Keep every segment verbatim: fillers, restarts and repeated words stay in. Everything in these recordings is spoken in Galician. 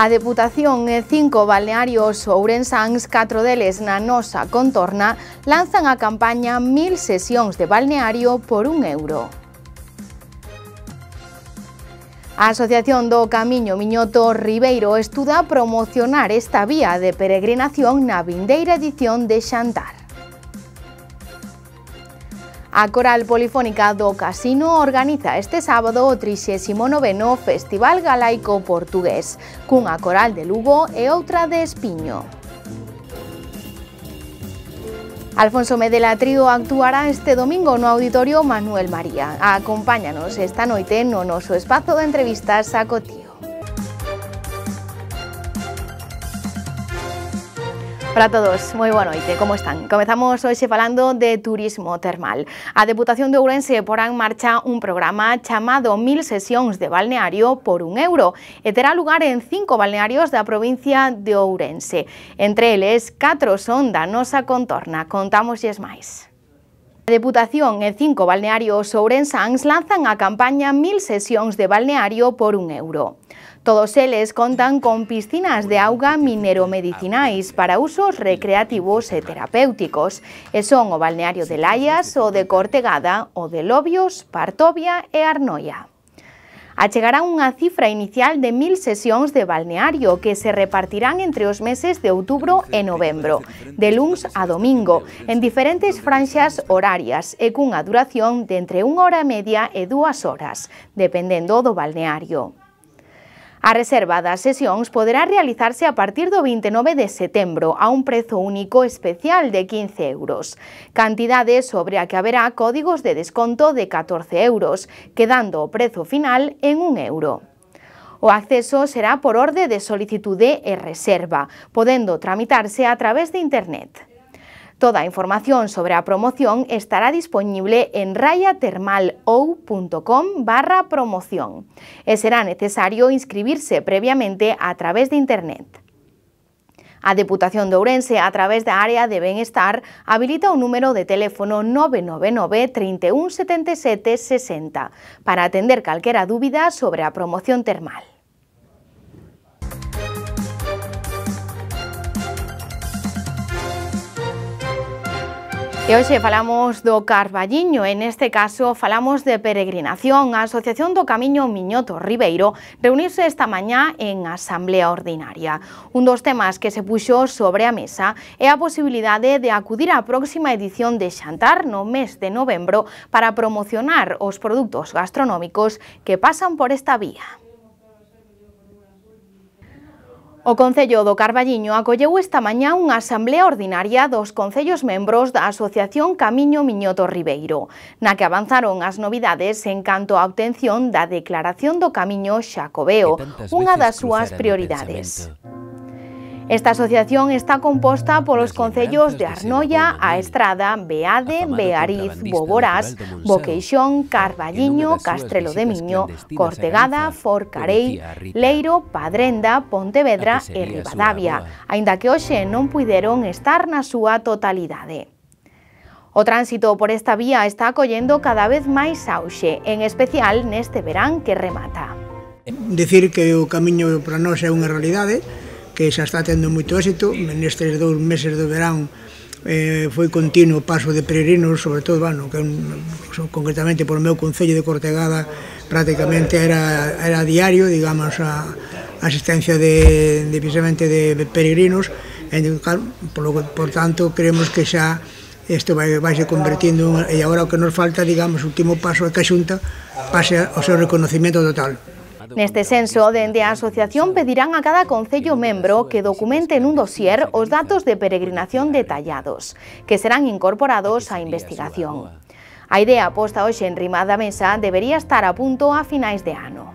A Deputación e cinco balnearios ourensáns, catro deles na nosa contorna, lanzan a campaña Mil sesións de balneario por un euro. A Asociación do Camiño Miñoto Ribeiro estuda promocionar esta vía de peregrinación na vindeira edición de Xantar. A Coral Polifónica do Casino organiza este sábado o trixésimo noveno Festival Galaico Portugués, cunha coral de Lugo e outra de Espiño. Alfonso Medela Trío actuará este domingo no Auditorio Manuel María. Acompáñanos esta noite no noso espazo de entrevistas a Cotío. Hola a todos, moi boa noite, como están? Comezamos hoxe falando de turismo termal. A Deputación de Ourense porá en marcha un programa chamado Mil sesións de balneario por un euro e terá lugar en cinco balnearios da provincia de Ourense. Entre eles, catro son da nosa contorna. Contámoslles máis. A Deputación e cinco balnearios ourensáns lanzan a campaña Mil sesións de balneario por un euro. Todos eles contan con piscinas de auga mineromedicinais para usos recreativos e terapéuticos, e son o balneario de Laias, o de Cortegada, o de Lobios, Partovia e Arnoia. Achegarán unha cifra inicial de mil sesións de balneario que se repartirán entre os meses de outubro e novembro, de luns a domingo, en diferentes franxas horarias e cunha duración de entre unha hora e media e dúas horas, dependendo do balneario. A reserva das sesións poderá realizarse a partir do vinte e nove de setembro a un prezo único especial de quince euros, cantidade sobre a que haberá códigos de desconto de catorce euros, quedando o prezo final en un euro. O acceso será por orde de solicitude e reserva, podendo tramitarse a través de internet. Toda a información sobre a promoción estará disponible en rayatermalou punto com barra promoción e será necesario inscribirse previamente a través de internet. A Deputación de Ourense, a través da área de Benestar, habilita un número de teléfono nove nove nove, trinta e un, setenta e sete, sesenta para atender calquera dúbida sobre a promoción termal. E hoxe falamos do Carballiño, en este caso falamos de peregrinación. A Asociación do Camiño Miñoto Ribeiro reuniuse esta mañá en Asamblea Ordinaria. Un dos temas que se puxo sobre a mesa é a posibilidade de acudir á próxima edición de Xantar no mes de novembro para promocionar os produtos gastronómicos que pasan por esta vía. O Concello do Carballiño acolleu esta mañá unha asamblea ordinaria dos concellos membros da Asociación Camiño Miñoto Ribeiro, na que avanzaron as novidades en canto á obtención da Declaración do Camiño Xacobeo, unha das súas prioridades. Esta asociación está composta polos concellos de Arnoia, A Estrada, Beade, Beariz, Boborás, Boqueixón, Carballiño, Castrelo de Miño, Cortegada, Forcarei, Leiro, Padrenda, Pontevedra e Ribadavia, aínda que hoxe non puideron estar na súa totalidade. O tránsito por esta vía está acollendo cada vez máis auxe, en especial neste verán que remata. Decir que o camiño para nós é unha realidade, que xa está tendo moito éxito. Nestes dous meses do verán eh, foi continuo o paso de peregrinos, sobre todo, bueno, que un, concretamente por meu concello de Cortegada prácticamente era, era diario, digamos, a, a asistencia de, de, precisamente de peregrinos, e, por, lo, por tanto, creemos que xa isto vai, vai se convertindo, e agora o que nos falta, digamos, o último paso é que a Xunta pase ao seu reconocimiento total. Neste senso, dende a asociación pedirán a cada concello membro que documente nun dossier os datos de peregrinación detallados, que serán incorporados á investigación. A idea posta hoxe en riba da mesa debería estar a punto a finais de ano.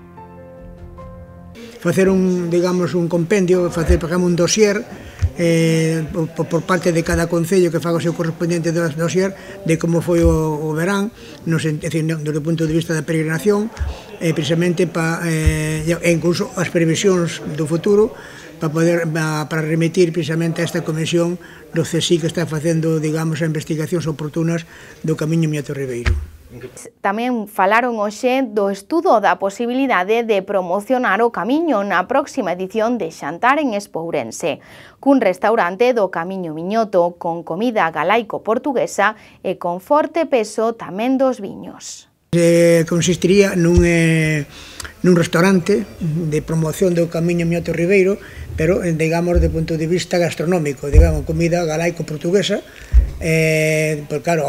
Facer un, digamos, un compendio, facer, por exemplo, un dossier eh, por, por parte de cada concello que faga o seu correspondiente dossier de como foi o, o verán, no, é dicir, desde o punto de vista da peregrinación, eh, precisamente pa, eh, e incluso as previsións do futuro para poder para remitir precisamente a esta comisión do C S I que está facendo, digamos, as investigacións oportunas do Camiño Miñoto Ribeiro. Tamén falaron hoxe do estudo da posibilidade de promocionar o Camiño na próxima edición de Xantar en Espourense, cun restaurante do Camiño Miñoto con comida galaico-portuguesa e con forte peso tamén dos viños. Eh, consistiría nun, eh, nun restaurante de promoción do Camiño Miñoto Ribeiro, pero, digamos, de punto de vista gastronómico, digamos, comida galaico-portuguesa. Eh, pues claro,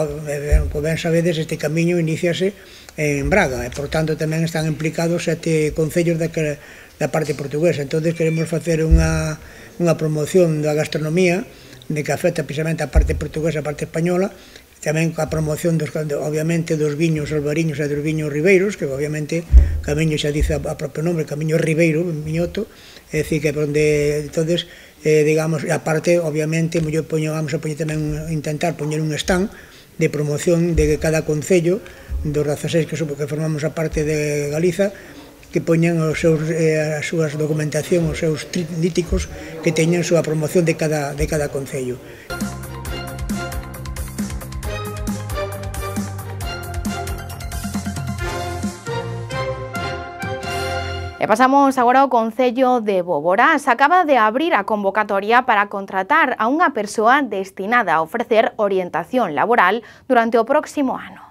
como ben sabedes, este camiño iníciase en Braga e, por tanto, tamén están implicados sete concellos da, da parte portuguesa. Entón, queremos facer unha, unha promoción da gastronomía de que afecta precisamente a parte portuguesa e a parte española, tamén a promoción, dos, obviamente, dos viños albariños e dos viños ribeiros, que obviamente camiño xa dice a propio nombre, Camiño Ribeiro, Miñoto, é dicir, que onde, entonces, eh, digamos, aparte, obviamente, yo poño, vamos a poñer tamén, intentar poñer un stand de promoción de cada concello, dos dezaseis que, que formamos a parte de Galiza, que poñan os seus, eh, as súas documentación, os seus trípticos que teñan a súa promoción de cada, de cada concello. E pasamos agora ao Concello de Boborás. Acaba de abrir a convocatoria para contratar a unha persoa destinada a ofrecer orientación laboral durante o próximo ano.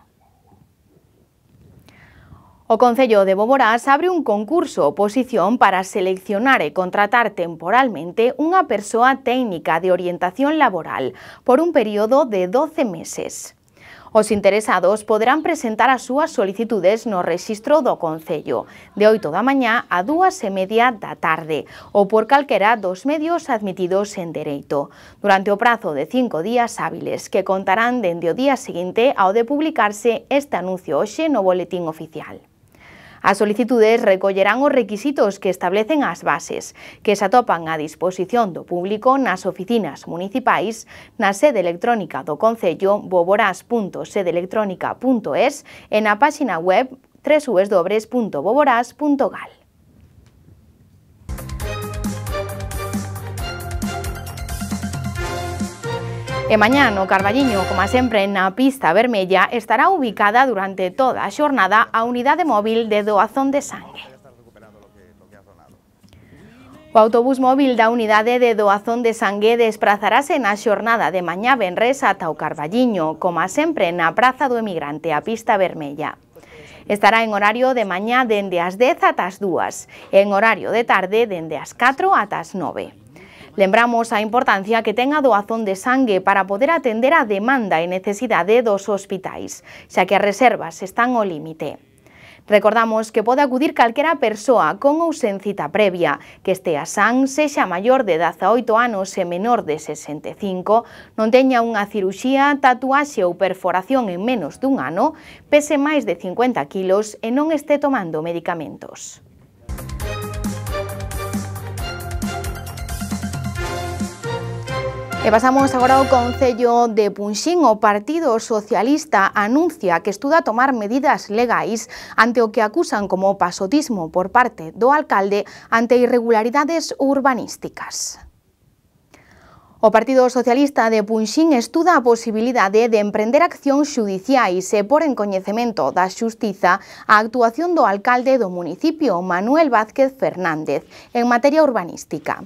O Concello de Boborás abre un concurso oposición para seleccionar e contratar temporalmente unha persoa técnica de orientación laboral por un período de doce meses. Os interesados poderán presentar as súas solicitudes no rexistro do Concello, de oito da mañá a dúas e media da tarde, ou por calquera dos medios admitidos en dereito, durante o prazo de cinco días hábiles, que contarán dende o día seguinte ao de publicarse este anuncio hoxe no Boletín Oficial. As solicitudes recollerán os requisitos que establecen as bases, que se atopan a disposición do público nas oficinas municipais, na sede electrónica do Concello boborás punto sede electrónica punto es e na páxina web w w w punto boborás punto gal. E mañá no Carballiño, como sempre na pista vermella, estará ubicada durante toda a xornada a unidade móvil de doazón de sangue. O autobús móvil da unidade de doazón de sangue desprazarase na xornada de mañá venres ata o Carballiño, como sempre na Praza do Emigrante, a pista vermella. Estará en horario de mañá dende as dez ata as dúas e en horario de tarde dende as catro ata as nove. Lembramos a importancia que ten a doazón de sangue para poder atender a demanda e necesidade dos hospitais, xa que as reservas están ao límite. Recordamos que pode acudir calquera persoa con ou sen cita previa, que estea san, sexa maior de dezaoito anos e menor de sesenta e cinco, non teña unha ciruxía, tatuaxe ou perforación en menos dun ano, pese máis de cincuenta kilos e non este tomando medicamentos. E pasamos agora ao Concello de Punxín. O Partido Socialista anuncia que estuda tomar medidas legais ante o que acusan como pasotismo por parte do alcalde ante irregularidades urbanísticas. O Partido Socialista de Punxín estuda a posibilidade de emprender accións xudiciais e por en coñecemento da Xustiza a actuación do alcalde do municipio, Manuel Vázquez Fernández, en materia urbanística.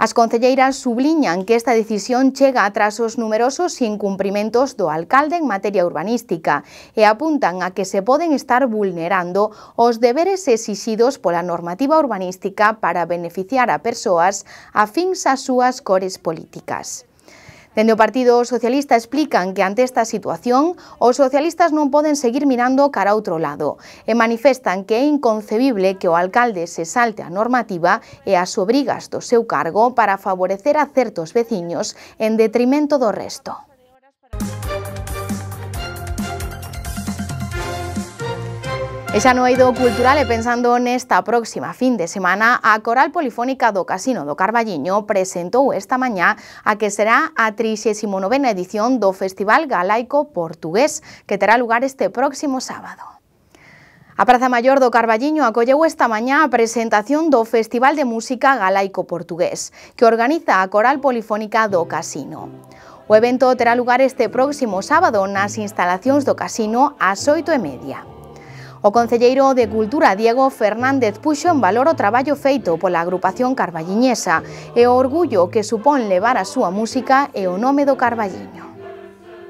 As concelleiras subliñan que esta decisión chega tras os numerosos incumprimentos do alcalde en materia urbanística e apuntan a que se poden estar vulnerando os deberes exixidos pola normativa urbanística para beneficiar a persoas afíns ás súas cores políticas. Dende o Partido Socialista explican que ante esta situación os socialistas non poden seguir mirando cara a outro lado e manifestan que é inconcebible que o alcalde se salte a normativa e as obrigas do seu cargo para favorecer a certos veciños en detrimento do resto. E xa no eido cultural e pensando nesta próxima fin de semana, a Coral Polifónica do Casino do Carballiño presentou esta mañá a que será a trixésima novena edición do Festival Galaico Portugués, que terá lugar este próximo sábado. A Praza Maior do Carballiño acolleu esta mañá a presentación do Festival de Música Galaico Portugués, que organiza a Coral Polifónica do Casino. O evento terá lugar este próximo sábado nas instalacións do casino ás oito e media. O concelleiro de Cultura, Diego Fernández, puxo en valor o traballo feito pola agrupación carballiñesa e o orgullo que supón levar a súa música e o nome do Carballiño.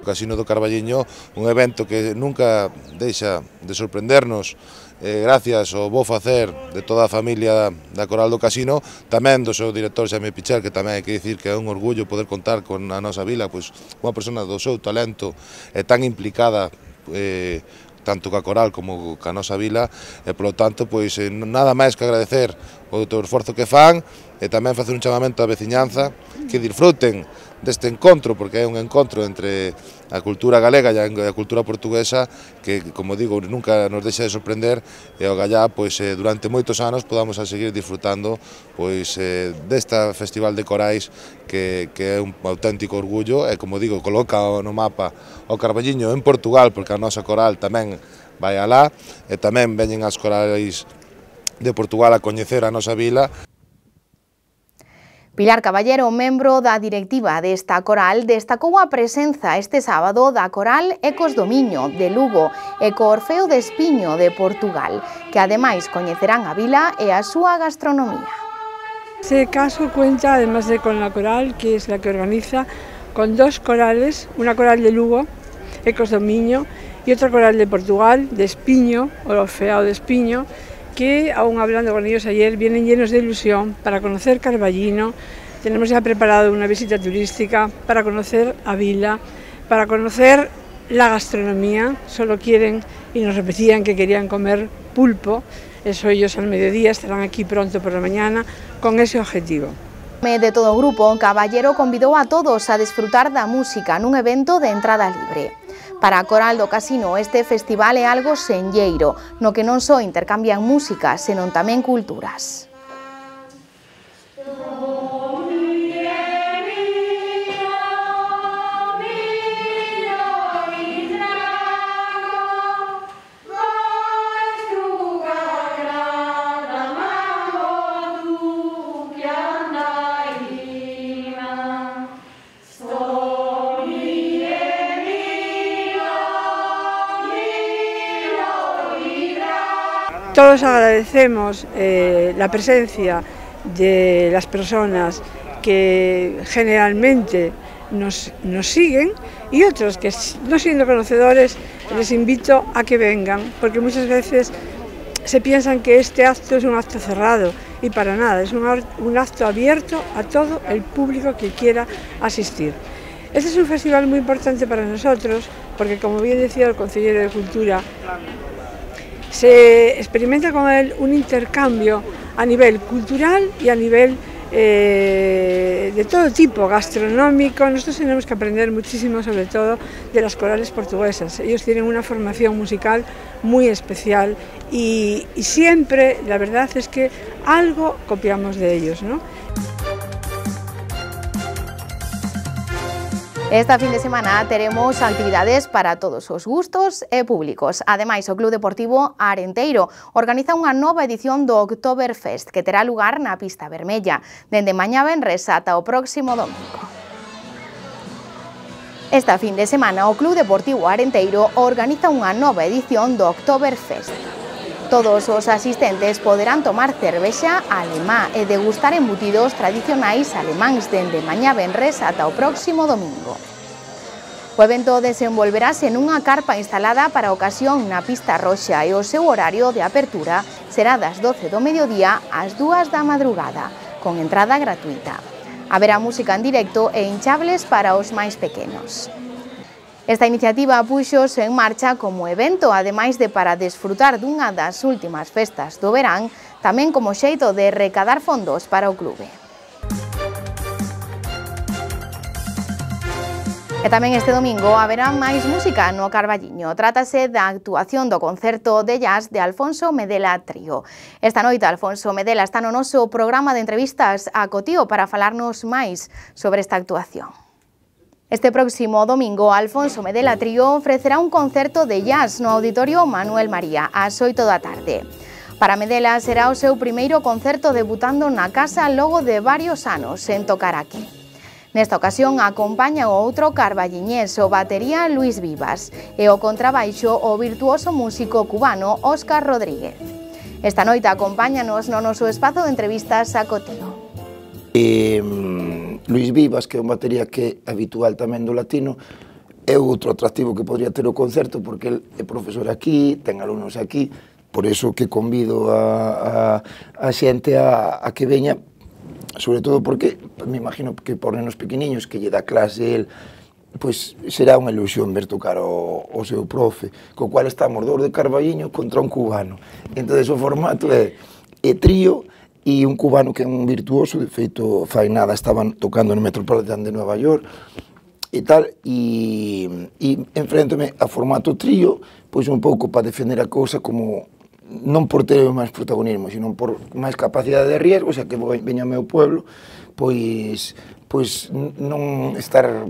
O Casino do Carballiño, un evento que nunca deixa de sorprendernos, eh, gracias ao bo facer de toda a familia da Coral do Casino, tamén do seu director Xaime Pichel, que tamén hai que dicir que é un orgullo poder contar con a nosa vila, pois unha persona do seu talento e tan implicada eh, tanto ca Coral como ca nosa vila, e polo tanto, pois nada máis que agradecer o teu esforzo que fan e tamén facer un chamamento á veciñanza que disfruten deste encontro, porque é un encontro entre a cultura galega e a cultura portuguesa que, como digo, nunca nos deixa de sorprender e o gallá, pois, durante moitos anos podamos a seguir disfrutando pois, desta Festival de Corais que, que é un auténtico orgullo e, como digo, coloca no mapa o Carballiño en Portugal, porque a nosa coral tamén vai alá e tamén veñen as corais de Portugal a coñecer a nosa vila. Pilar Caballero, membro da directiva desta coral, destacou a presenza este sábado da coral Ecos do Miño, de Lugo, e co Orfeo de Espiño, de Portugal, que ademais coñecerán a vila e a súa gastronomía. Este caso cuenta, además de con la coral, que es la que organiza, con dos corales, una coral de Lugo, Ecos do Miño, y otra coral de Portugal, de Espiño, o Orfeo de Espiño, que, aún hablando con ellos ayer, vienen llenos de ilusión para conocer Carballiño. Tenemos ya preparado una visita turística para conocer a vila, para conocer la gastronomía. Solo quieren, y nos repetían que querían comer pulpo, eso ellos al mediodía, estarán aquí pronto por la mañana, con ese objetivo. De todo o grupo, Caballero convidou a todos a desfrutar da música nun evento de entrada libre. Para a Coral do Casino, este festival é algo senlleiro, no que non só intercambian música, senón tamén culturas. Todos agradecemos eh, la presencia de las personas que generalmente nos, nos siguen y otros que, no siendo conocedores, les invito a que vengan, porque muchas veces se piensan que este acto es un acto cerrado y para nada, es un, un acto abierto a todo el público que quiera asistir. Este es un festival muy importante para nosotros porque, como bien decía el consejero de Cultura, se experimenta con él un intercambio a nivel cultural y a nivel eh, de todo tipo, gastronómico. Nosotros tenemos que aprender muchísimo, sobre todo, de las corales portuguesas. Ellos tienen una formación musical muy especial y, y siempre, la verdad es que algo copiamos de ellos, ¿no? Esta fin de semana teremos actividades para todos os gustos e públicos. Ademais, o Club Deportivo Arenteiro organiza unha nova edición do Oktoberfest que terá lugar na Pista Vermella, dende mañá venres ata o próximo domingo. Esta fin de semana, o Club Deportivo Arenteiro organiza unha nova edición do Oktoberfest. Todos os asistentes poderán tomar cervexa alemá e degustar embutidos tradicionais alemáns dende mañá venres ata o próximo domingo. O evento desenvolverase nunha carpa instalada para a ocasión na Pista Roxa e o seu horario de apertura será das doce do mediodía ás dúas da madrugada, con entrada gratuita. Haberá música en directo e hinchables para os máis pequenos. Esta iniciativa puxose en marcha como evento, ademais de para desfrutar dunha das últimas festas do verán, tamén como xeito de recadar fondos para o clube. E tamén este domingo haberá máis música no Carballiño. Trátase da actuación do concerto de jazz de Alfonso Medela Trío. Esta noite Alfonso Medela está no noso programa de entrevistas a Cotío para falarnos máis sobre esta actuación. Este próximo domingo, Alfonso Medela Trío ofrecerá un concerto de jazz no Auditorio Manuel María ás oito da tarde. Para Medela será o seu primeiro concerto debutando na casa logo de varios anos en tocar aquí. Nesta ocasión acompaña o outro carballiñés, o batería Luis Vivas, e o contrabaixo o virtuoso músico cubano Óscar Rodríguez. Esta noite acompáñanos no noso espazo de entrevistas a Cotío. Eh, Luis Vivas, que é un batería que é habitual tamén do latino, é outro atractivo que podría ter o concerto, porque ele é profesor aquí, ten alumnos aquí, por iso que convido a, a, a xente a, a que veña, sobre todo porque me imagino que por nenos pequeniños que lle dá clase el, pois será unha ilusión ver tocar o, o seu profe, co cual estamos dous de Carballiño contra un cubano. Entón o formato é, é trío e un cubano que é un virtuoso, de feito fai nada estaban tocando no Metropolitan de Nova York e tal, e, e enfréntome a formato trío, pois un pouco para defender a cousa como non por ter máis protagonismo, sino por máis capacidade de riesgo, xa que veña ao meu pueblo, pois, pois non estar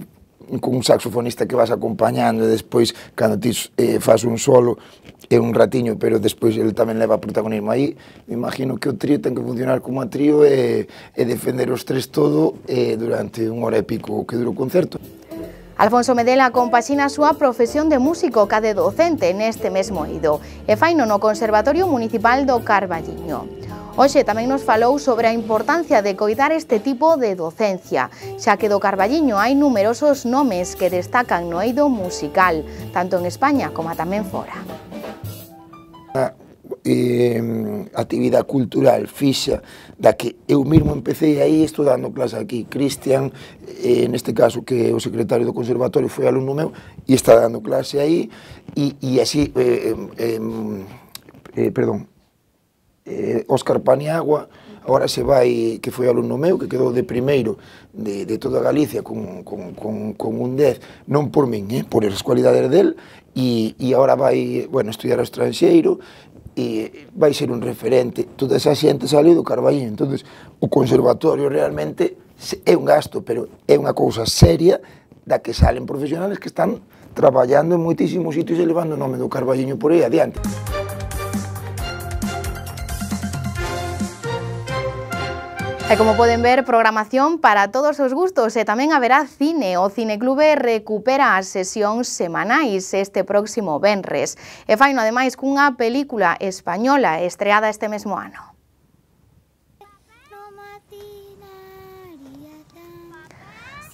con un saxofonista que vas acompañando e despois, cando ti eh, faz un solo, é un ratiño, pero despois ele tamén leva protagonismo aí. Me imagino que o trío ten que funcionar como a trío e, e defender os tres todo eh, durante unha hora e pico que dura o concerto. Alfonso Medela compaxina a súa profesión de músico ca de docente neste mesmo eido e faino no Conservatorio Municipal do Carballiño. Hoxe tamén nos falou sobre a importancia de coidar este tipo de docencia, xa que do Carballiño hai numerosos nomes que destacan no eido musical, tanto en España como tamén fora. A eh, actividade cultural fixa da que eu mesmo empecé aí estudando clase aquí. Cristian, eh, neste caso que é o secretario do conservatorio, foi alumno meu e está dando clase aí e, e así eh, eh, eh, perdón eh, Óscar Paniagua agora se vai, que foi alumno meu, que quedou de primeiro de, de toda Galicia con, con, con, con un dez, non por min, eh, por as cualidades del, e, e agora vai, bueno, estudiar ao estranxeiro e vai ser un referente. Toda esa xente saliu do Carballiño, entonces o conservatorio realmente é un gasto, pero é unha cousa seria da que salen profesionales que están traballando en moitísimos sitios e levando o nome do Carballiño por aí adiante. E como poden ver, programación para todos os gustos e tamén haberá cine. O Cineclube recupera as sesións semanais este próximo venres e faino ademais cunha película española estreada este mesmo ano.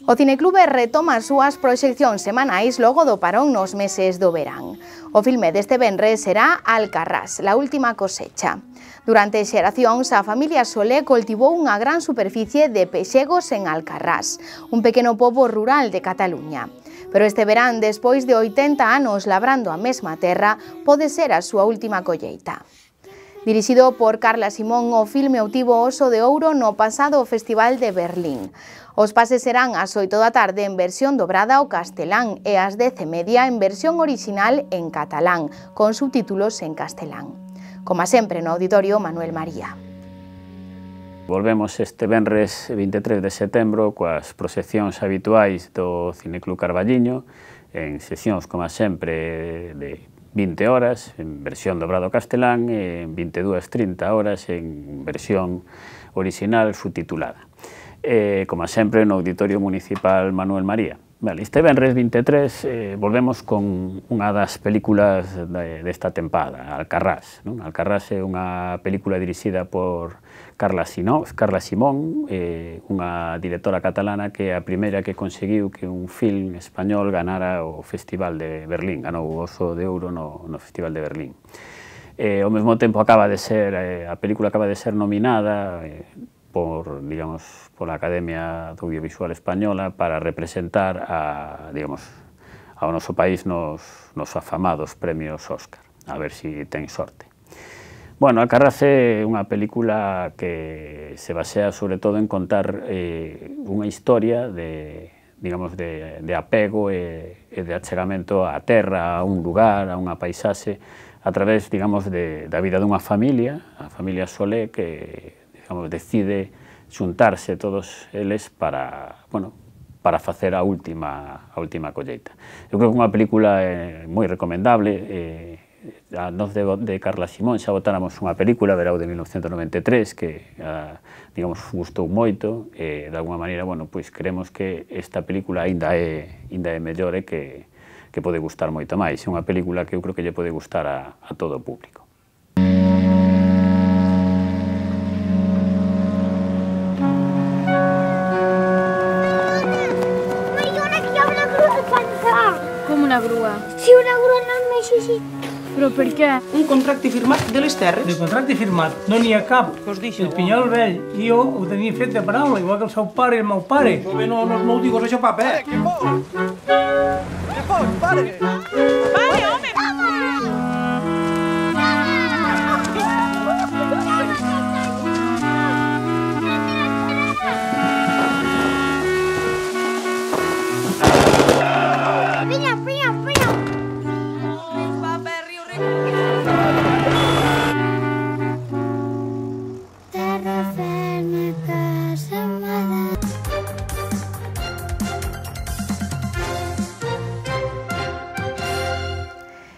O Cineclube retoma as súas proxeccións semanais logo do parón nos meses do verán. O filme deste venres será Alcarrás, la última cosecha. Durante xeracións, a familia Solé cultivou unha gran superficie de pexegos en Alcarrás, un pequeno pobo rural de Cataluña. Pero este verán, despois de oitenta anos labrando a mesma terra, pode ser a súa última colleita. Dirixido por Carla Simón, o filme obtivo o Oso de Ouro no pasado Festival de Berlín. Os pases serán ás oito da tarde en versión dobrada ao castelán e ás dez e media en versión orixinal en catalán, con subtítulos en castelán. Como sempre no Auditorio Manuel María. Volvemos este venres vinte e tres de setembro coas proxeccións habituais do Cineclub Carballiño, en sesións, como sempre, de vinte horas, en versión dobrado castelán, e en vinte e dúas trinta horas en versión orixinal subtitulada. E, como sempre, no Auditorio Municipal Manuel María. Vale, este venres vinte e tres eh, volvemos con unha das películas de, desta tempada, Alcarrás. Non? Alcarrás é unha película dirixida por Carla, Sino, Carla Simón, eh, unha directora catalana que é a primeira que conseguiu que un film español ganara o Festival de Berlín, ganou o Oso de Ouro no, no Festival de Berlín. Eh, ao mesmo tempo acaba de ser, eh, a película acaba de ser nominada eh, por, digamos, pola Academia do Audiovisual Española para representar a, digamos, ao noso país nos, nos afamados premios Óscar. A ver si ten sorte. Bueno, Alcarrás é unha película que se basea sobre todo en contar eh, unha historia de, digamos, de, de apego e, e de achegamento á terra, a un lugar, a unha paisaxe, a través, digamos, de, da vida dunha familia, a familia Solé, que digamos, decide xuntarse todos eles para, bueno, para facer a última, a última colleita. Eu creo que é unha película eh, moi recomendable, eh, a nós de, de Carla Simón xa votáramos unha película, Verao de mil novecentos noventa e tres, que, a, digamos, gustou moito, e, de alguma maneira, bueno, pois, creemos que esta película ainda é, ainda é mellor e que, que pode gustar moito máis. É unha película que eu creo que lle pode gustar a, a todo o público. Una grua. Sí, una grua no el necessito. Però per què? Un contracte firmat de les terres. De contracte firmat, no n'hi ha cap. Què us deixo? El Pinyol vell i jo ho tenia fet de paraula, igual que el seu pare i el meu pare. No, no, no, no ho digues això, papa, eh? Què fos? Què fos, pare? Pare, home!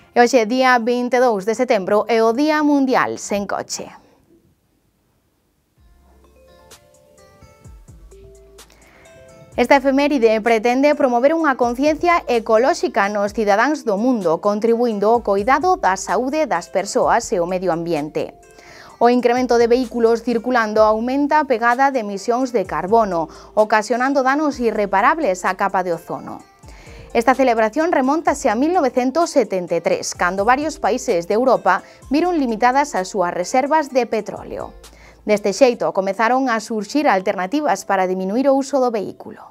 E hoxe, día vinte e dous de setembro, é o Día Mundial sen coche. Esta efeméride pretende promover unha conciencia ecolóxica nos cidadáns do mundo, contribuindo ao coidado da saúde das persoas e o medio ambiente. O incremento de vehículos circulando aumenta a pegada de emisións de carbono, ocasionando danos irreparables á capa de ozono. Esta celebración remóntase a mil novecentos setenta e tres, cando varios países de Europa viron limitadas as súas reservas de petróleo. Deste xeito, comezaron a surxir alternativas para diminuir o uso do vehículo.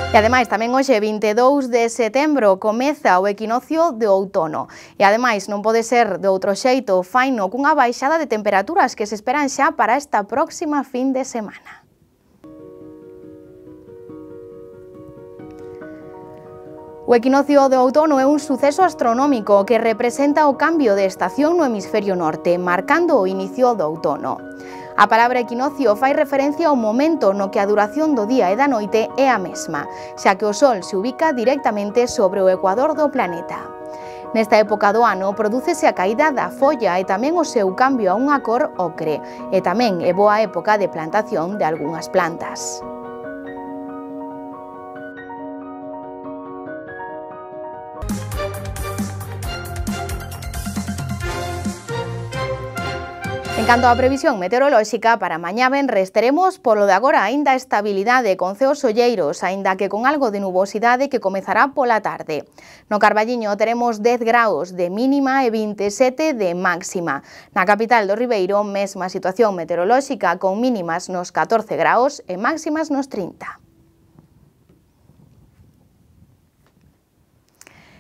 E ademais, tamén hoxe, vinte e dous de setembro, comeza o equinoccio de outono. E ademais, non pode ser de outro xeito, faino cunha baixada de temperaturas que se esperan xa para esta próxima fin de semana. O equinoccio de outono é un suceso astronómico que representa o cambio de estación no hemisferio norte, marcando o inicio do outono. A palabra equinoccio fai referencia ao momento no que a duración do día e da noite é a mesma, xa que o Sol se ubica directamente sobre o ecuador do planeta. Nesta época do ano prodúcese a caída da folla e tamén o seu cambio a unha cor ocre, e tamén é boa época de plantación de algunhas plantas. En canto á previsión meteorolóxica, para mañá venres teremos polo de agora aínda estabilidade con ceos olleiros, aínda que con algo de nubosidade que comezará pola tarde. No Carballiño teremos dez graus de mínima e vinte e sete de máxima. Na capital do Ribeiro, mesma situación meteorolóxica con mínimas nos catorce graus e máximas nos trinta.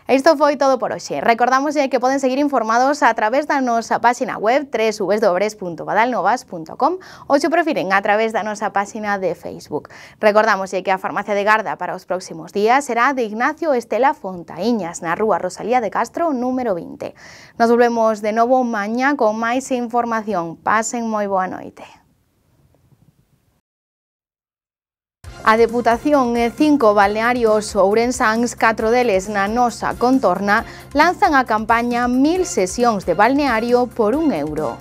Isto foi todo por hoxe. Recordamos que poden seguir informados a través da nosa páxina web w w w punto badalnovas punto com ou, se prefiren, a través da nosa páxina de Facebook. Recordamos que a farmacia de garda para os próximos días será de Ignacio Estela Fontaíñas, na rúa Rosalía de Castro, número vinte. Nos volvemos de novo mañá con máis información. Pasen moi boa noite. A Deputación e cinco balnearios ourensáns, catro deles na nosa contorna, lanzan a campaña Mil sesións de balneario por un euro.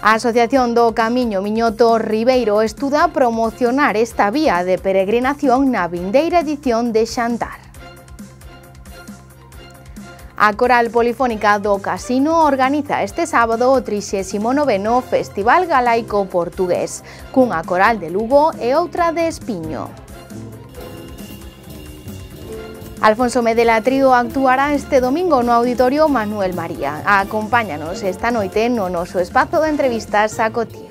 A Asociación do Camiño Miñoto Ribeiro estuda promocionar esta vía de peregrinación na vindeira edición de Xantar. A Coral Polifónica do Casino organiza este sábado o trixésimo noveno Festival Galaico Portugués, cunha coral de Lugo e outra de Espiño. Alfonso Medela Trío actuará este domingo no Auditorio Manuel María. Acompáñanos esta noite no noso espazo de entrevistas a Cotín.